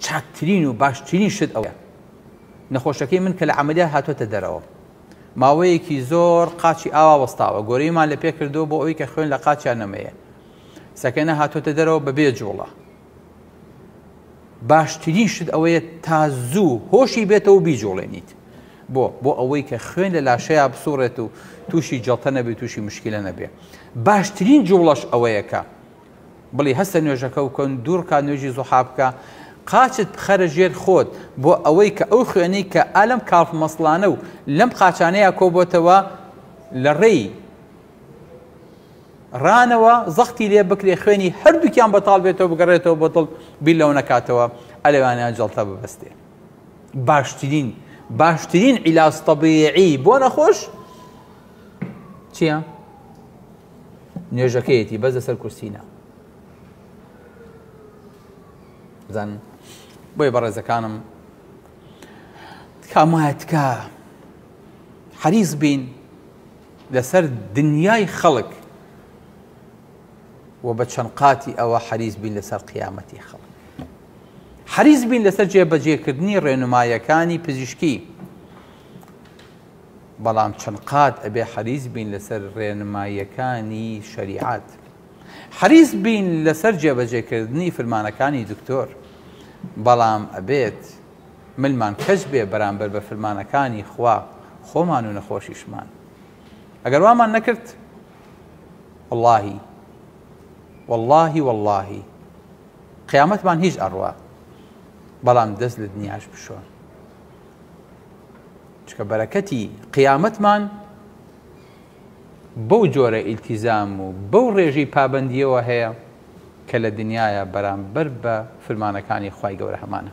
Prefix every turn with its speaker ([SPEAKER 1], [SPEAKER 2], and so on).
[SPEAKER 1] چاکترین و باشترین شت ئەوەیە نەخۆشەکەی من کە لە عەمەلیات هاتۆتە دەرەوە ماوەیەکی زۆر قاچی ئاوا وەستاوە گۆرەویمان لە پێ کردووە بۆ ئەوەی کە خوێن لە قاچیان نەمەیە سەکەنە هاتۆتە دەرەوە بەبێ جوڵە باشترین شت ئەوەیە تا زوو هۆشی بێتەوە بیجوڵێنیت بۆ بۆ ئەوەی کە خوێن لە لاشەیە بسوڕێت و تووشی جەڵتە نەبێت تووشی مشکلە نەبێ باشترین جوڵەش ئەوەیە کە بڵی هەستە نوێژەکە بکەن دوو ڕکات نوێژی زوحا بکە قاچت بخەرە ژێر خۆت بۆ ئەوەی کە ئەو خوێنەی کە ئالەم calf muscle انە و لەم قاچانەیە کۆبۆتەوە لە ڕێی ڕانەوە زەختی لێ بکرێ خوێنی هەردووکیان بەتاڵ بێتەوە بگەڕێتەوە بۆ دڵ بیر لەوە نەکاتەوە ئەلەوانیان جەڵتە ببەستێ. باشترین باشترین عیلاج تەبیعی بۆ نەخۆش چییە؟ نوێژەکەیەتی بەس لەسەر کورسی نا بزانن بۆیە بەڕێزەکانم تکام وایە تکا حەریص بین لەسەر دنیای خەڵک و بە چەند قاتی ئەوە حەریص بین لەسەر قیامەتی خەڵک حەریص بین لەسەر جێبەجێکردنی ڕێنمایەکانی پزیشکی بەڵام چەند قات ئەبێ حەریس بین لەسەر ڕێنماییەکانی شەریعەت حەریس بین لەسەر جێبەجێکردنی فرمانەکانی دکتۆر بەڵام ئەبێت ملمان کەچ بێ بەرامبەر بە فرمانەکانی خوا خۆمان و نەخۆشیشمان ئەگەر وامان نەکرد واللهی واللهی واللهی قیامەتمان هیچ ئەڕوا بەڵام دەست لە دنیاش بشۆن چونکە بەرەکەتی قیامەتمان بەو جۆرە ئیلتیزام و بەو ڕێژەی پابەندیەوە هەیە کە لە دنیایا بەرامبەر بە فرمانەکانی خوای گەورە هەمانە.